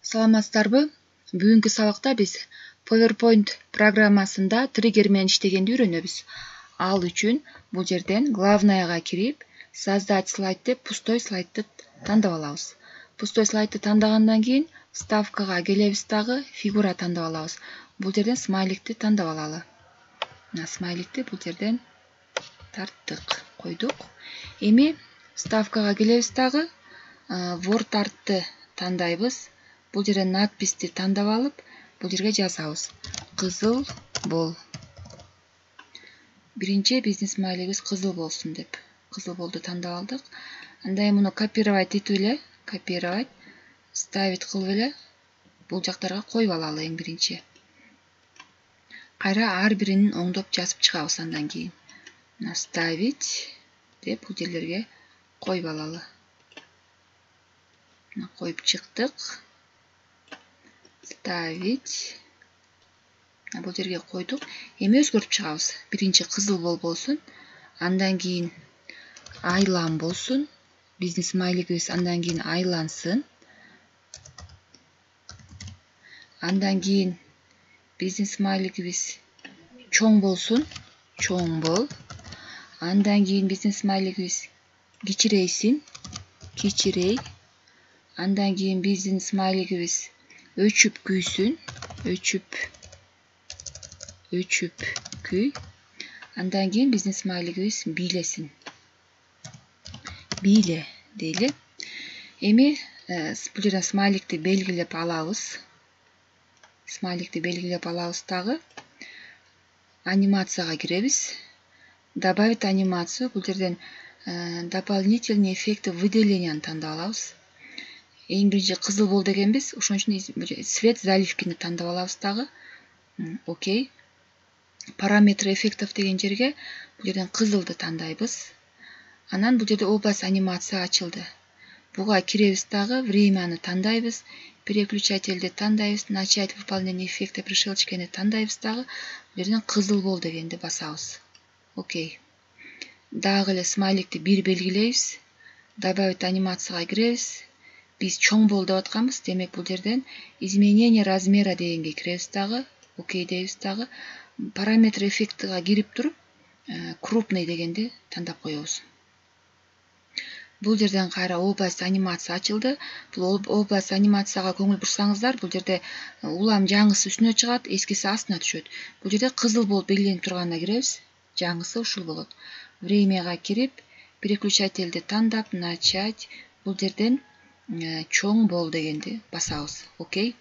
Саламатсыздарбы? Бүгүнкү сабакта биз PowerPoint программасында триггер менен иштегенди үйрөнөбүз. Ал үчүн бул жерден главныйга кирип, создать слайд деп пустой слайдты тандап алабыз. Пустой слайдты тандагандан кийин вставкага келебиз дагы фигура тандап алабыз. Бул жерден смайликти тандап алалы. Смайликти бул жерден тарттык, койдук. Эми вставкага келебиз дагы Word артты тандайбыз. Бул жерден надписти тандап алып, бул жерге жазабыз. Кызыл бол. Биринчи бизнес смайлигибиз кызыл болсун деп. Кызыл болду тандап алдык. Андай муну копировать этип эле, копировать, ставить кылып эле бул жактарга коюп алалы эң биринчи. Кайра ар бирин оңдоп жазып чыгабыз андан кийин. Ставить деп бул жерлерге коюп алалы. Коюп чыктык. Ставить. Бул жерге койдук. Эми өзгөртүп чыгабыз. Биринчи кызыл болсун, андан кийин айлан болсун. Бизнес смайлигибиз андан кийин айлансын. Андан кийин бизнес смайлигибиз чоң болсун, чоң бол. Андан кийин бизнес смайлигибиз кичирейсин, кичирей. Андан кийин бизнес смайлигибиз өчүп күйсүн, өчүп күй. Андан кийин бизнес смайлигибиз бийлесин. Бийле дейли. Эми бул жерден смайликти белгилеп алабыз. Смайликти белгилеп алабыз дагы. Анимацияга киребиз. Добавить анимацию. Бул жерден дополнительные эффекты выделенияны тандап алабыз. Эң биринчи кызыл бол дегенбиз. Ошон үчүн цвет заливкини тандап алабыз дагы. Окей. Параметры эффектов деген жерге бул жерден кызылды тандайбыз. Анан бул жерде область анимация ачылды. Буга киребиз дагы, времяны тандайбыз, переключательди тандайбыз, начать выполнение эффекта при щелчке тандайбыз дагы. Бул жерден кызыл бол дегенди басабыз. Окей. Дагы эле смайликти бир белгилейбиз. Добавить анимацияга киребиз. Биз чоң бол деп атканбыз. Демек бул жерден изменение размера дегенге киребиз дагы. Окей дейбиз дагы. Параметр эффектига кирип туруп, крупный дегенди тандап коебуз. Бул жерден кайра область анимация ачылды. Бул область анимацияга көңүл бурсаңыздар, бул жерде улам жаңысы үстүнө чыгат, эскиси астына түшөт. Бул жерде кызыл болуп белгиленип турганына киребиз. Жаңысы ушул болот. Времяга кирип, переключательди тандап, начать. Бул жерден чоң бол дегенди басабыз. Окей.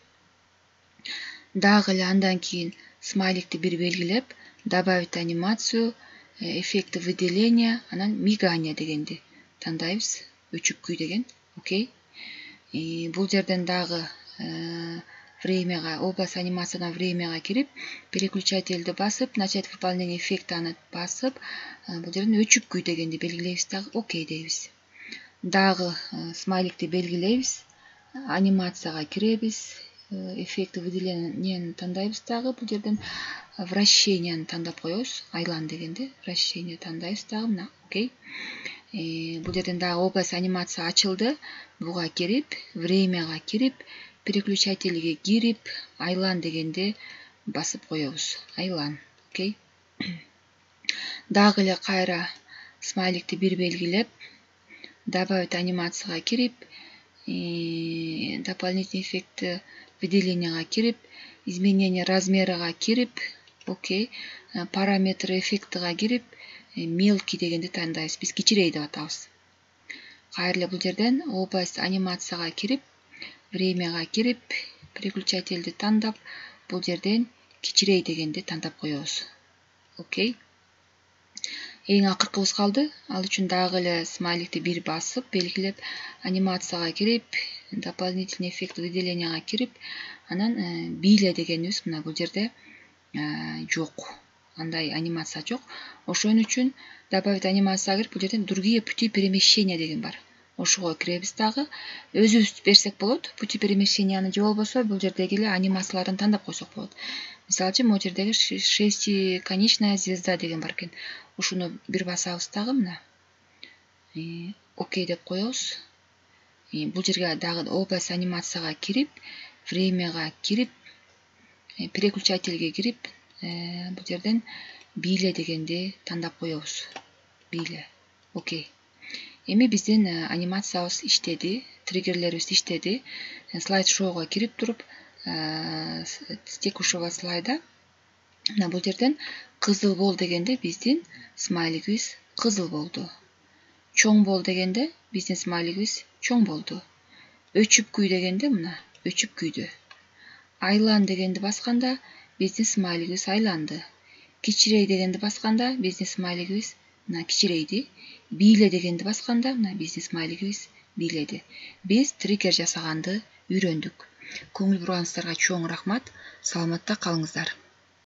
Дагы эле андан кийин смайликти бир белгилеп, добавить анимацию, эффекты выделения, анан мигание дегенди тандайбыз. Өчүп күй деген. Окей. Бул жерден дагы времяга, область анимациядан времяга кирип, переключательди басып, начать выполнение эффектаны басып, бул жерден өчүп күй дегенди белгилейбиз дагы. Окей дейбиз. Дагы смайликти белгилейбиз, анимацияга киребиз, эффекты выделенияны тандайбыз дагы. Бул жерден вращенияны тандап коебуз. Айлан дегенди вращение тандайбыз дагы. Мына, окей. Бул жерден дагы область анимация ачылды. Буга кирип, времяга кирип, переключательге кирип, айлан дегенди басып коебуз. Айлан. Окей. Дагы эле кайра смайликти бир белгилеп, добавить анимацияга кирип, дополнительный эффекты выделенияга кирип, изменение размерага кирип, окей, параметры эффектига кирип, мелкий дегенди тандайбыз. Биз кичирей деп атабыз. Кайра эле бул жерден область анимацияга кирип, времяга кирип, переключательди тандап, бул жерден кичирей дегенди тандап коебуз. Окей. Эң акыркыбыз калды. Ал үчүн дагы эле смайликти бир басып, белгилеп, анимацияга кирип, дополнительный эффект выделенияга кирип, анан бийле дегенибиз мына бул жерде жок. Андай анимация жок. Ошон үчүн добавить анимацияга кирип, бул жерден другие пути перемещения деген бар. Ошого киребиз дагы. Өзүбүз берсек болот. Пути перемещенияны же болбосо бул жердеги эле анимацияларын тандап койсок болот. Мисалы үчүн могу жердеги шестиконечная звезда деген бар экен. Ушуну бир басабыз дагы мына. Окей деп коебуз. Бул жерге дагы область анимацияга кирип, времяга кирип, переключательге кирип, бул жерден бийле дегенди тандап коебуз. Бийле. Окей. Эми биздин анимациябыз иштеди, триггерлерибиз иштеди. Слайд шоуга кирип туруп, с текущего слайда бул жерден кызыл бол дегенде биздин смайлигибиз кызыл болду. Чоң бол дегенде биздин смайлигибиз чоң болду. Өчүп күй дегенде мына өчүп күйдү. Айлан дегенди басканда биздин смайлигибиз айланды. Кичирей дегенди басканда биздин смайлигибиз мына кичирейди. Бийле дегенди басканда мына биздин смайлигибиз бийледи. Биз триггер жасаганды үйрөндүк. Көңүл бурганыңыздарга чоң рахмат. Саламатта калыңыздар.